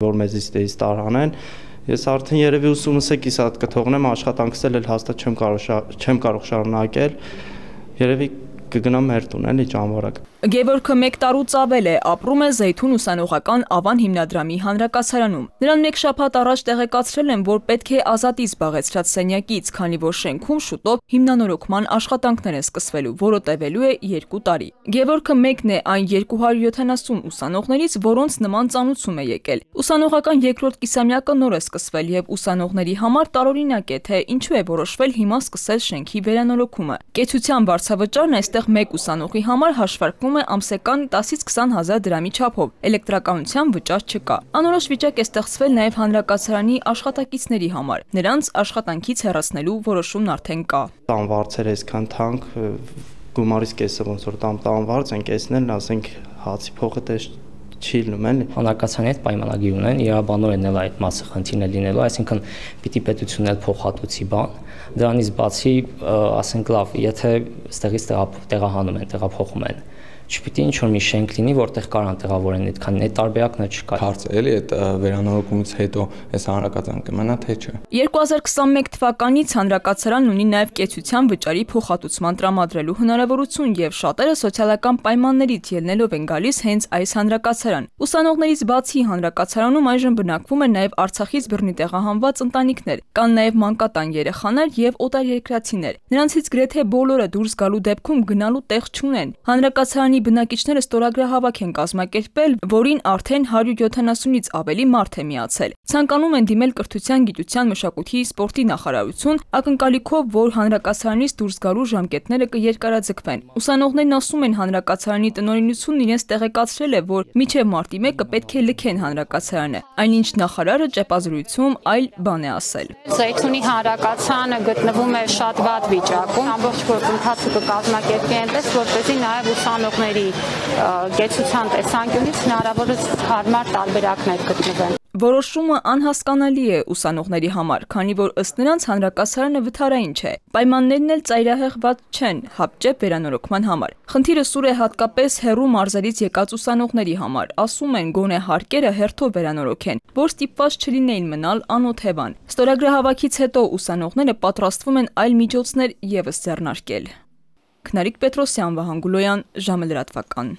որ մեզից դեից տարանեն։ Ես արդեն երևի ուսումս է կիսատ կթողնեմ, աշխատանքս էլ հաստատ չեմ կարող շարունակել, երևի կգնամ մեր տուն, էլի ճամբարակ։ Գևորգը 1 տարուց ավել է ապրում է Զեյթուն ուսանողական Ավան հիմնադրամի հանրակացարանում։ Նրան 1 շաբաթ առաջ տեղեկացրել են, որ պետք է ազատի զբաղեցրած սենյակից, քանի որ շենքում շուտով հիմնանորոգման աշխատանքներ են սկսվելու, որը տևելու է 2 տարի։ Գևորգը մեկն է այն 270 ուսանողներից, որոնց նման ծանուցում է եկել։ Ուսանողական 2-րդ կիսամյակը նոր է սկսվել եւ ուսանողների համար տարօրինակ է, թե ինչու է որոշվել հիմա սկսել շենքի վերանորոգումը։ Կեցության վարձավճարն այստեղ 1 ուսանողի համար հաշվարկվում է ամսական 10-ից 20 հազար դրամի չափով, էլեկտրականության վճար չկա։ Անորոշ վիճակ է ստեղծվել նաև հանրակացարանի աշխատակիցների համար, նրանց աշխատանքից հեռացնելու որոշումն արդեն կա։ Տանվարձերը այսքան թանկ, գումարից կեսը ոնց որ տանվարձ են կեսնել, ասենք հացի փողը դες չի լինում էլի։ Հանրակացարանի հետ պայմանագիր ունեն, իրավաբանորեն էլ այդ մասը խնդիրն է լինելու, այսինքն պիտի պետությունն էլ փոխհատուցի բան։ Դրանից բացի, ասենք լավ, եթե ստեղից տեղահանում են, տեղափոխում են, չպիտի ինչ-որ մի շենք լինի, որտեղ կարան տեղավորեն այդքան, այդ տարբերակն չկա։ Հարցը էլի այդ վերանորոգումից հետո այս հանրակացարան կմնա թե չէ։ 2021 թվականից հանրակացարանն ունի նաև կեցության վճարի փոխհատուցման տրամադրելու հնարավորություն եւ շատերը սոցիալական պայմաններից ելնելով են գալիս հենց այս հանրակացարան։ Ուսանողներից բացի հանրակացարանում այժմ բնակվում են նաև Արցախից բռնի տեղահանված ընտանիքներ, կան նաև մանկատան երեխաներ եւ օտարերկրացիներ։ Նրանցից գրեթե բոլորը դուրս գալու դեպքում գնալու տեղ չունեն։ Հանրակացարանի բնակիչները ստորագրահավաք են կազմակերպել, որին արդեն 170-ից ավելի մարդ է միացել։ Ցանկանում են դիմել կրթության, գիտության, մշակույթի, սպորտի նախարարություն, ակնկալիքով, որ հանրակացարանից դուրս գալու ժամկետները կերկարաձգվեն։ Ուսանողներն ասում են, հանրակացարանի տնօրինությունն իրենց տեղեկացրել է, որ մինչև մարտի 1-ը պետք է լքեն հանրակացարանը։ Այնինչ նախարարը ճեպազրույցում այլ բան է ասել։ Զեյթունի հանրակացարանը գտնվում է շատ վատ վիճակում, ամբողջ գործընթացը կկազմակերպվի այնպես, որպեսզի նաև ուսանողների կեցության տեսանկյունից հնարավորինս հարմար տարբերակներ գտնվեն։ Որոշումը անհասկանալի է ուսանողների համար, քանի որ ըստ նրանց հանրակացարանը վթարային չէ։ Պայմաններն էլ ծայրահեղված չեն հապճեպ վերանորոգման համար։ Խնդիրը սուր է հատկապես հեռու մարզերից եկած ուսանողների համար։ Ասում են, գոնե հարկերը հերթով վերանորոգեն, որ ստիպված չլինեին մնալ անօթևան։ Ստորագրահավաքից հետո ուսանողները պատրաստվում են այլ միջոցներ ևս ձեռնարկել։ Քնարիկ Պետրոսյան, Վահան Գուլոյան, ժամը լրատվական։